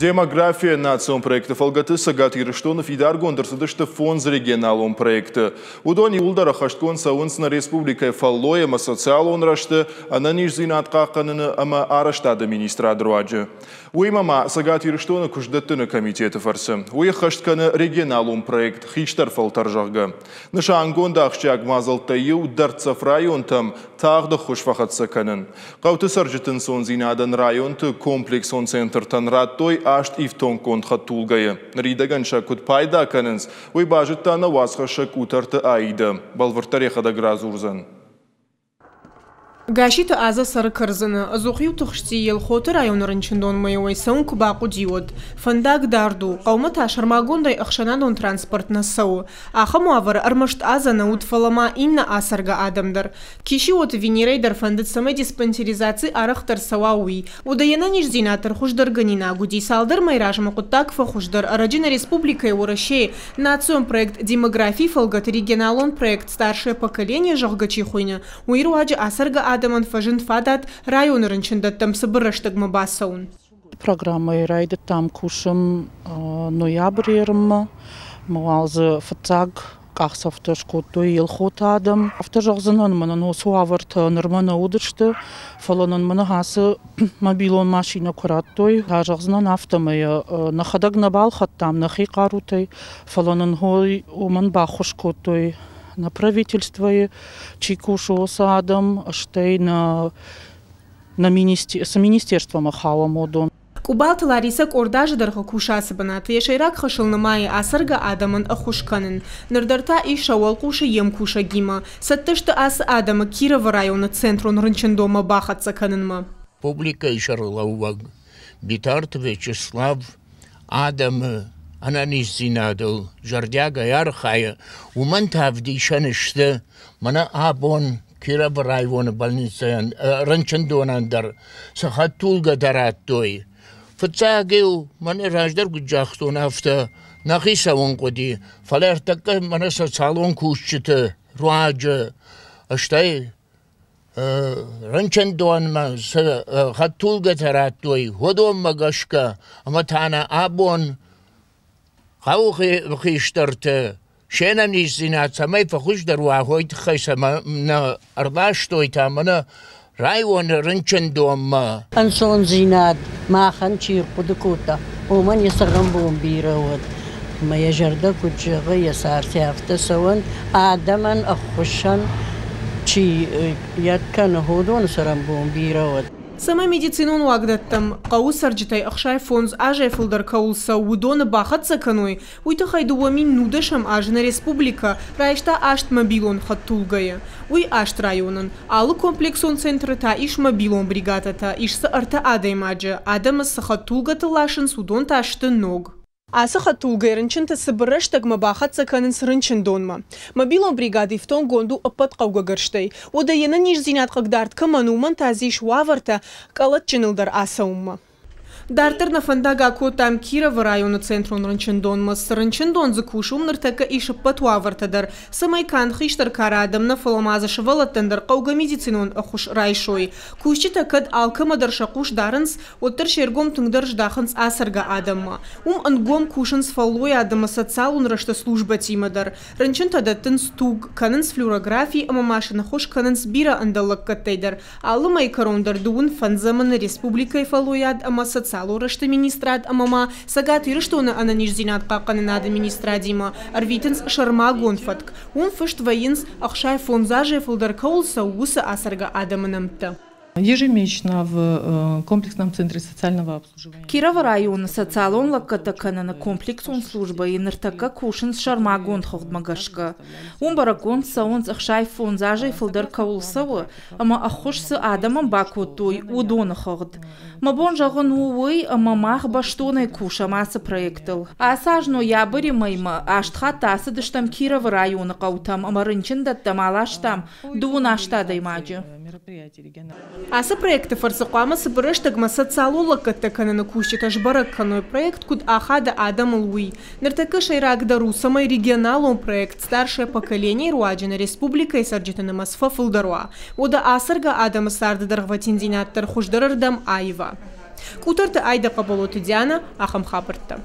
Демография национ проекты фӕлгӕты Цӕгат Ирыстоны фидаргонд ӕрцыдысты фондз регионалон проекты. Уыдон иууылдӕр ӕххӕстгонд цӕуынц нӕ республикӕйы фӕллой ӕмӕ социалон рӕзты, ӕнӕниздзинад хъахъхъӕныны ӕмӕ арӕзтады министрады руаджы. Уыимӕ ма Цӕгат Ирыстоны куыстдӕттыны комитеты фӕрцы. Уый ӕххӕст кӕны регионалон проект «Хистӕр фӕлтӕр», зӕгъгӕ. Нысангонд ахсджиаг мадзӕлттӕй иу дӕрддзӕф районтӕм тагъд ӕххуыс фӕхӕццӕ кӕнын. Хъӕуты цӕрджыты ӕнцондзинадӕн районты комплексон центртӕн радтой аст ифтонггонд хӕдтулгӕйы. Ныридӕгӕн сӕ куыд пайда кӕнынц, уый базыдта нӕ уацхӕссӕг Къутӕрты Аидӕ. Бӕлвырддӕр йӕхӕдӕг радзурдзӕн. Гасситы Азӕ цӕры Кӕрдзыны. Ӕдзух-иу тыхсти Елхоты районы рынчындонмӕ-иу ӕй цӕуын куы бахъуыди, уӕд. Фӕндаг дард у, хъӕумӕ та сӕрмагондӕй ӕхсӕнадон транспорт нӕ цӕуы. Ахӕм уавӕры ӕрмӕст Азӕ нӕ уыд, фӕлӕ ма иннӕ ацӕргӕ адӕм дӕр. Кисиоты Венерӕйы дӕр фӕндыд, цӕмӕй диспансеризаци арӕхдӕр цӕуа, уый. Уӕдӕ йе нӕниздзинад дӕр хуыздӕргӕнинаг уыди. Цалдӕр мӕйы размӕ хъуыддаг фӕхуыздӕр. Ӕрӕджы нӕ республикӕйы Уӕрӕсейы национ проект «Демографийы» фӕлгӕты регионалон проект «Старшее поколение», зӕгъгӕ, чи хуыйны, уый руаджы ацӕргӕ адӕмӕн фӕзынд фадат районы рынчындӕттӕм цыбыр рӕстӕгмӕ бацӕуын. Программӕйы райдыдтам кусын ноябры ерынмӕ. Ӕмӕ уал дзы фыццаг къахдзӕфтӕ скодтой Елхоты адӕм. Афтӕ зӕгъдзынӕн, мӕнӕн уыцы уавӕртӕ нырмӕ нӕ уыдысты, фӕлӕ нын мӕнӕ ацы мобилон машинӕ куы радтой, зӕгъдзынӕн афтӕмӕй нӕхӕдӕг нӕ балхӕдтам нӕхи хъарутӕй, фӕлӕ нын уымӕн баххуыс кодтой нӕ правительствойы чи кусы, уыцы адӕм, стӕй нӕ нӕ цы министерствомӕ хауӕм, уыдон. Къубалты Ларисӕ къорд азы дӕргъы кусы ацы бынаты. Йӕ сӕйраг хӕсыл нымайы ацӕргӕ адӕмӕн ӕххуыс кӕнын. Ныр дӕр та ис сӕ уӕлхъусы йе мкусӕгимӕ. Цӕттӕ сты ацы адӕмы Кировы районы центрон рынчындонмӕ бахӕццӕ кӕнынмӕ. Публикӕйы сӕргълӕууӕг Битарты Вячеслав адӕмы ӕнӕниздзинадыл зӕрдиагӕй архайы, уымӕн та ӕвдисӕн сты, мӕнӕ абон Кировы районы больницӕйӕн, рынчындонӕн дӕр цы хӕдтулгӕтӕ радтой. Фыццаг-иу мӕнӕ раздӕр куыд загътон, афтӕ нӕхи цӕуын хъуыди, фӕлӕ ӕртӕккӕ мӕнӕ социалон кусджыты руаджы, стӕй рынчындонмӕ цы хӕдтулгӕтӕ радтой, уыдонмӕ гӕсгӕ ӕмӕ та нӕ абон хъӕуы хистӕрты се нӕниздзинад цӕмӕй фӕхуыздӕр уа, уый тыххӕй сӕ нӕ ӕрластой та мӕнӕ районы рынчындонмӕ. Ӕнцондзинад махӕн чи рхъуыды кодта, уымӕн йӕ цӕрӕнбон бирӕ уыд. Ӕмӕ йӕ зӕрдӕ куыд зӕгъы, йӕ цардӕй афтӕ цӕуӕн, адӕмӕн ӕххуысӕн чи йӕ кӕны, уыдоны цӕрӕнбон бирӕ уыд. Цӕмӕй медицинон уагдӕттӕм хъӕуы цӕрджытӕй 65 азӕй фылдӕр кӕуыл цӕуы, уыдоны бахӕццӕ кӕной, уый тыххӕй 2010 азы нӕ республикӕ райста аст мобилон хӕдтулгӕйы. Уый аст районӕн. Алы комплексон центры та ис мобилон бригадӕтӕ, ис дзы ӕртӕ адӕймаджы. Адӕмы цы хӕдтулгӕты ласынц, уыдон та сты ног. Ацы хӕдтулгӕйы рынчынты цыбыр рӕстӕгмӕ бахӕццӕ кӕнынц рынчындонмӕ. Мобилон бригад ифтонггонд у ӕппӕт хъӕугӕ гӕрзтӕй. Уӕдӕ йе нӕниздзинад хъыгдард кӕмӕн у, уымӕн та дзы ис уавӕртӕ къӕлӕтджыныл дӕр ацӕуынмӕ. Дарддӕр нӕ фӕндаг акодтам Кировы районы центрон рынчындонмӕ. Цы рынчындон дзы кусы, уым ныртӕккӕ ис ӕппӕт уавӕртӕ дӕр, цӕмӕй канд хистӕр кары адӕм нӕ, фӕлӕ ма дзы сывӕллӕттӕн дӕр хъӕугӕ медицинон ӕххуыс райсой. Кусджытӕ кӕд алкӕмӕ дӕр сӕ хъус дарынц, уӕддӕр се ргом тынгдӕр здахынц ацӕргӕ адӕммӕ. Уым ӕнгом кусынц фӕллойад ӕмӕ социалон рӕзты службӕтимӕ дӕр. Рынчынтӕ дӕттынц туг, кӕнынц флюорографи ӕмӕ ма сын ӕххуыс кӕнынц бирӕ ӕндӕр лӕггӕдтӕй дӕр. Алы мӕйы кӕрон дӕр дыууын фӕндзӕмы нӕ республикӕйы фӕллойад ӕмӕ социалон рӕзты министрад ӕмӕ ма Цӕгат Ирыстоны ӕнӕниздзинад хъахъхъӕнынады министрадимӕ ӕрвитынц сӕрмагонд фӕтк. Уым фыст вӕййынц, 65 азӕй фылдӕр кӕуыл цӕуы, уыцы ацӕргӕ адӕмы нӕмттӕ. Ежемесячно в комплексном центре социального обслуживания. Кировы районы социалон лӕггӕдтӕ кӕныны комплексон службӕйы ныртӕккӕ кусынц сӕрмагонд хыгъдмӕ гӕсгӕ. Уым бӕрӕггонд цӕуынц 65 азӕй фылдӕр кӕуыл цӕуы ӕмӕ ӕххуыс цы адӕмӕн бакодтой, уыдоны хыгъд. Мӕ бон зӕгъын у уый, ӕмӕ мах бӕстонӕй кусӕм ацы проектыл. Ацы аз ноябры мӕймӕ аст хатты ацыдыстӕм Кировы районы хъӕутӕм ӕмӕ рынчындӕттӕм аластам дыууын аст адӕймаджы. Ацы проекты фӕрцы хъуамӕ цыбыр рӕстӕгмӕ социалон лӕггӕдтӕ кӕныны кусджытӕ сбӕрӕг кӕной, проект куыд ахады адӕмыл, уый. Ныртӕккӕ сӕйрагдӕр у, цӕмӕй регионалон проект «Старшее поколение» руаджы нӕ республикӕйы цӕрджыты нымӕц фӕфылдӕр уа. Уӕдӕ ацӕргӕ адӕмы царды дӕргъвӕтиндзинад дӕр хуыздӕрырдӕм аива. Къутӕрты Айдӕ, Хъӕбӕлоты Дианӕ, ахӕм хабӕрттӕ.